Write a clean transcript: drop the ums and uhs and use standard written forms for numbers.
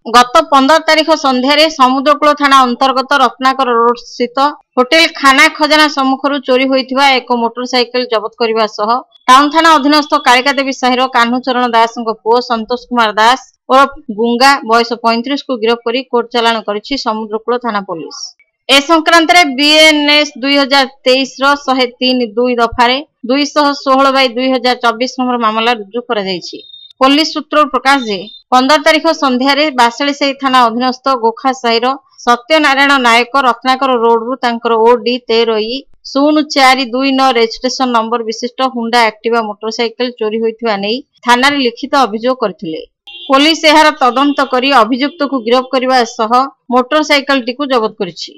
ଗତ 15 ତାରିଖ ସନ୍ଧ୍ୟାରେ ସମୁଦ୍ରକୂଳ ଥାନା ଅନ୍ତର୍ଗତ ରତ୍ନାକର ରୋଡ ସ୍ଥିତ ହୋଟେଲ ଖାନା ଖଜାନା ସମ୍ମୁଖରୁ ଚୋରି ହୋଇଥିବା ଏକ ମୋଟରସାଇକେଲ ଜବତ କରିବା ସହ ଟାଉନ ଥାନା ଅଧୀନସ୍ଥ କାଳିକାଦେବୀ ସାହିର କାହ୍ନୁଚରଣ ଦାସଙ୍କ ପୁଅ ସନ୍ତୋଷ କୁମାର ଦାସ ଓରଫ ଗୁଙ୍ଗା, ବୟସ 35କୁ ଗିରଫ କରି କୋର୍ଟ ଚାଲାଣ କରିଛି ସମୁଦ୍ରକୂଳ ଥାନା ପୋଲିସ। ଏ ସଂକ୍ରାନ୍ତରେ ବିଏନ୍ଏସ୍ 2023ର 103 2 ଦଫାରେ 216/2024 ନମ୍ବର ମାମଲା ରୁଜୁ କରାଯାଇଛି। ପୋଲିସ ସୂତ୍ରରୁ ପ୍ରକାଶ ଯେ, 15 ତାରିଖ ସନ୍ଧ୍ୟାରେ ବାସେଳିସାହି ଥାନା ଅଧୀନସ୍ଥ ଗୋଖା ସାହିର ସତ୍ୟନାରାୟଣ ନାୟକ ରତ୍ନାକର ରୋଡରୁ ତାଙ୍କର ଓଡି 13 ଇ 0429 ରେଜିଷ୍ଟ୍ରେସନ ନମ୍ବର ବିଶିଷ୍ଟ ହୁଣ୍ଡା ଆକ୍ଟିଭା ମୋଟରସାଇକେଲ ଚୋରି ହୋଇଥିବା ନେଇ ଥାନାରେ ଲିଖିତ ଅଭିଯୋଗ କରିଥିଲେ। ପୋଲିସ ଏହାର ତଦନ୍ତ କରି ଅଭିଯୁକ୍ତକୁ ଗିରଫ କରିବା ସହ ମୋଟରସାଇକେଲଟିକୁ ଜବତ କରିଛି।